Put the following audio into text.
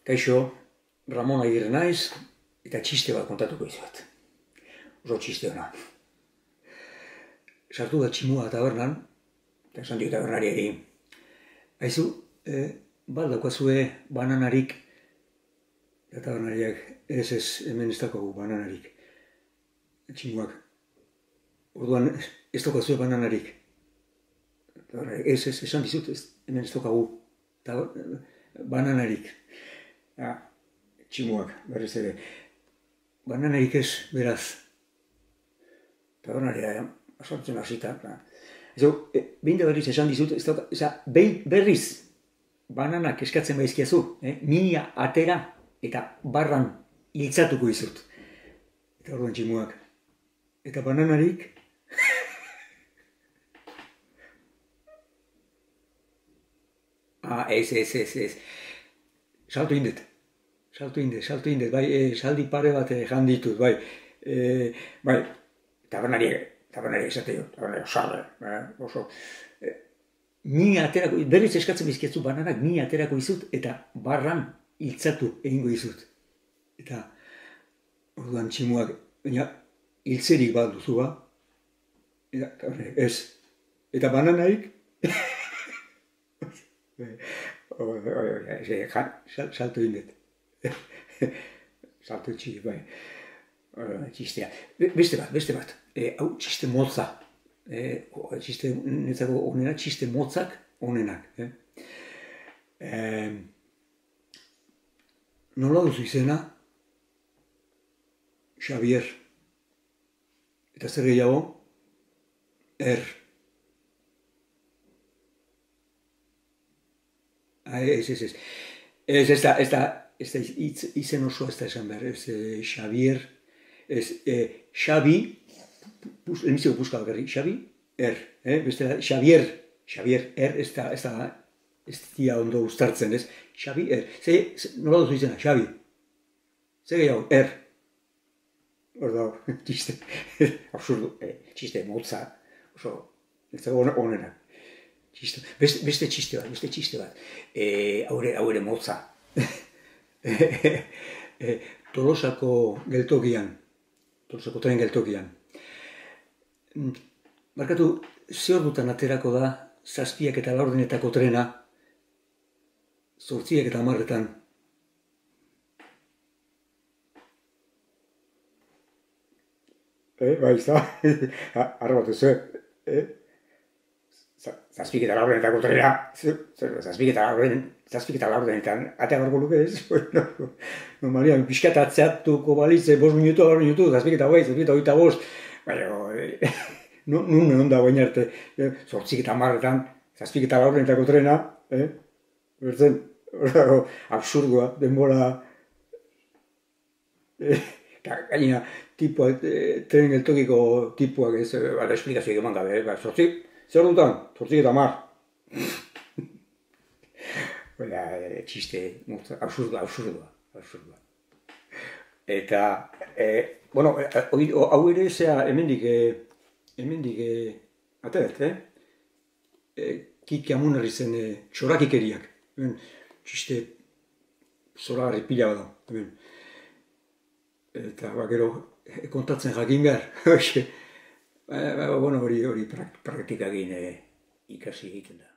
Kaixo, Ramon Agirre naiz, eta txiste bat kontatuko izuet. Oso txiste hona. Sartu da tximua tabernan, eta esan dio tabernariari. Aizu, bat daukazue bananarik, eta tabernariak, ez, hemen ez daukagu bananarik. Tximuak, orduan ez daukazue bananarik. Ez, esan dizut, hemen ez daukagu bananarik. Tximuak, berriz ere. Bananarik ez, beraz. Tabernaria, asaltzen hasita. Behin da berriz esan dizut, berriz bananak eskatzen baizkiazu, mina atera eta barran hiltzatuko izut. Eta orduan tximuak. Eta bananarik... Ez. Salto indet, bai, saldi pare bat janditut, bai. Tabernari esate jo, sarre, oso. Mi aterako, berriz eskatzen bizkiatzu bananak, mi aterako izut, eta barran hiltzatu egingo izut. Eta, orduan tximuak, baina, hiltzerik bat duzu ba, ez. Eta bananaik, salto indet. Salto txiki, bai. Txistea. Beste bat. Hau txiste motza. Txiste netzako onena, txiste motzak onenak. Nola duzu izena? Xavier. Eta zer gehiago? Ez da izen osoa ez da esan behar, ez Xavier, ez Xabi, elmizio buska bakarri, Xabi, beste da, Xavier, ez dira ondo uztartzen, ez, Xabi, nola duzu izena, Xabi, ze gehiago, hor dago, txiste, absurdo, txiste motza, oso, ez dago onera. Beste txiste bat, haure motza. Tolosako geltokian, Tolosako tren geltokian. Barkatu, ze ordutan aterako da 7:04 trena, 8:10. Bai, arrabatu ze, 7:04 trena, 7:04 atea barko luke ez? Normalian, pixkat atzeatuko balitze, 5 minutu, 7:25, baina, nun egon da baina arte, 8:10, 7:04 trena, bertzen, absurdua, denbora, gaina, tren geltokiko tipuak ez, esplikazioak eman gabe, zer dutan? 8:10. Txiste, absurdua. Eta, hau ere zea hemendik ateret, Kiki Amunerri zen txorakikeriak. Txiste zoragarri pila bada. Eta, gero, kontatzen jakin behar. Hori praktikagin ikasi egiten da.